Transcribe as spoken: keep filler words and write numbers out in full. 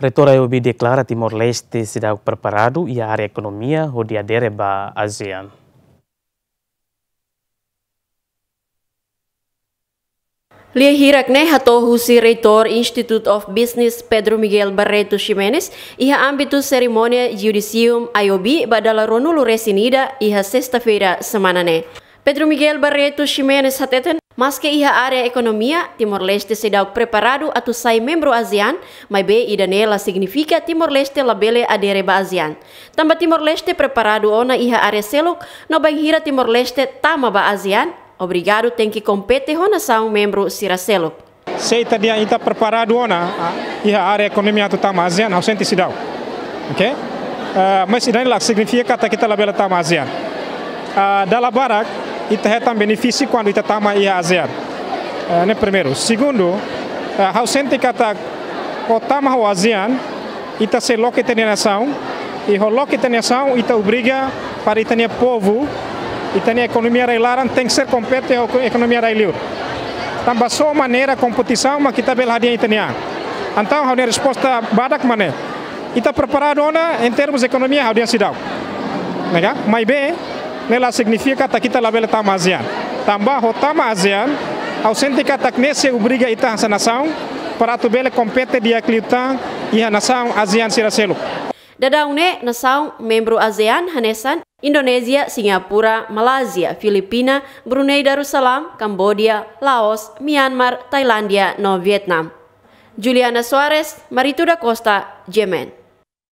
Reitór I O B deklara Timor-Leste seidauk preparadu iha área ekonomia hodi adere ba ASEAN. Lia hirak ne'e hato'o husi Reitór Institute of Business Pedro Miguel Barreto Ximenes iha ámbitu serimónia Judicium I O B ba dala ruanulu-resin-ida iha sesta-feira semana ne'e. Pedro Miguel Barreto Ximenes hateten, maske iha área ekonomia, Timor-Leste seidauk preparadu atu sai membru ASEAN, maibé ida-ne'e la signifika Timor-Leste labele adere ba ASEAN. Tanba Timor-Leste preparadu ona iha área seluk, no bainhira Timor-Leste tama ba ASEAN, obrigadu tenke kompete ho nasaun membru sira seluk. Se ita dehan ita preparadu ona, ah, iha área ekonomia atu tama ASEAN, ha'u sente seidauk. Oke? Ah, mas ida-ne'e la signifika katak ita labele tama ASEAN. Ah, dala barak, ita hetan benefísiu kuandu ita tama iha ASEAN. Ah, ne'e primeiru. Segundu, ah, ha'u sente katak, ho tama ho ASEAN, ita sei loke ita-nia nasaun, i ho loke ita-nia nasaun, ita obriga para ita-nia povu, ita-nia ekonomia rai-laran tenke ser kompete ho ekonomia rai-liur. Tanba só maneira kompetisaun mak ita bele hadi'a ita-nia an. Entaun, ha'u-nia resposta badak mak ne'e. Ita preparadu ona, em termos ekonomia, ha'u dehan seidauk. Ne'e ka? Maibé, ne'e la signifika katak ita labele tama ASEAN. Tanba ho tama ASEAN, ha'u sente katak ne'e sei obriga ita hanesan nasaun, para atu bele kompete di'ak liután iha nasaun ASEAN sira seluk. Daudaun ne'e nasaun membru ASEAN hanesan Indonézia, Singapura, Malázia, Filipina, Brunei Darussalam, Kamboja, Laos, Myanmar, Tailándia no Vietnam. Juliana Soares, Marito da Costa, GMN.